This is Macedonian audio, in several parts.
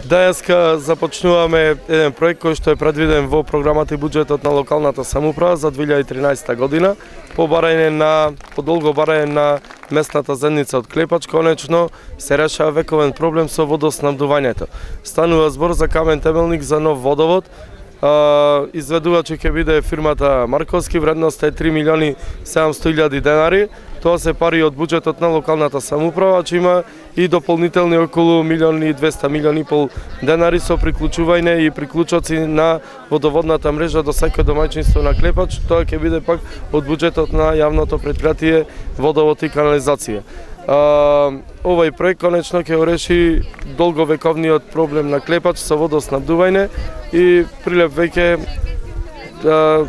Денеска започнуваме еден проект кој што е предвиден во програмата и буџетот на локалната самоуправа за 2013 година по долго барање на местната заедница од Клепач. Конечно се решава вековен проблем со водоснабдувањето. Станува збор за камен темелник за нов водовод. Изведувач ќе биде фирмата Марковски, вредноста е 3.700.000 денари. Тоа се пари од буџетот на локалната самоуправа, че има и дополнителни околу 1.200.000 денари со приклучување и приклучоци на водоводната мрежа до секој домаќинство на Клепач. Тоа ќе биде пак од буџетот на јавното предпријатие Водовод и канализација. Овој проект конечно ќе реши долговековниот проблем на Клепач со водоснабдување и Прилеп веќе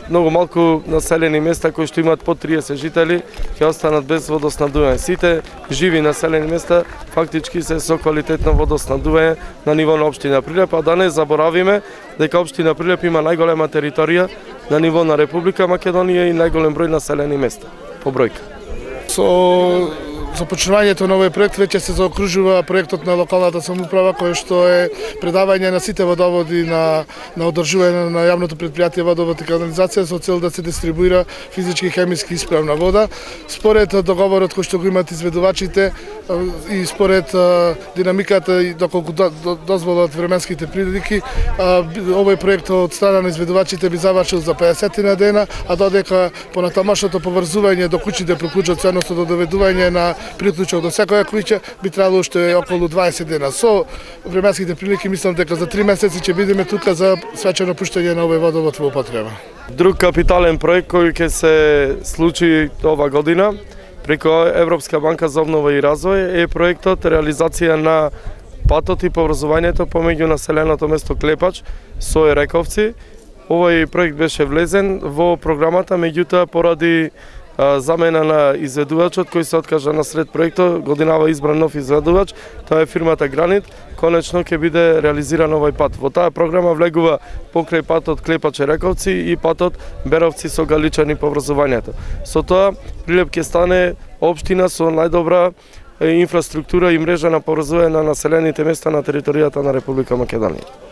многу малку населени места кои што имаат по 30 жители ќе останат без водоснабдување. Сите живи населени места фактички се со квалитетно водоснабдување на ниво на општина Прилеп, а да не заборавиме дека општина Прилеп има најголема територија на ниво на Република Македонија и најголем број населени места по бројка. Со започнувањето на овој проект веќе се заокружува проектот на локалната самоуправа кој што е предавање на сите водоводи на одржување на јавното предпријатие Водовод и канализација со цел да се дистрибуира физички, хемиски исправна вода. Според договорот кој што го имаат изведувачите и според динамиката и доколку дозволат временските прилики, овој проект од страна на изведувачите би завршил за 50 дена, а додека понатамошното поврзување до куќите приклучоци, односно до доведување на приклучок до секоја куќа би требало уште околу 20 дена. Со временските прилики мислам дека за 3 месеци ќе бидеме тука за свечено пуштање на овој водовод во употреба. Друг капитален проект кој ќе се случи ова година преку Европска банка за обнова и развој е проектот реализација на патот и поврзувањето помеѓу населеното место Клепач со Ерековци. Овој проект беше влезен во програмата, меѓутоа поради замена на изведувачот кој се откажа на сред проектот, годинава избран нов изведувач, тоа е фирмата Гранит, конечно ќе биде реализиран овој пат. Во таа програма влегува покрај патот Клепач Ерековци и патот Беровци со Галичани поврзувањето. Со тоа Прилеп ќе стане општина со најдобра инфраструктура и мрежа на поврзување на населените места на територијата на Република Македонија.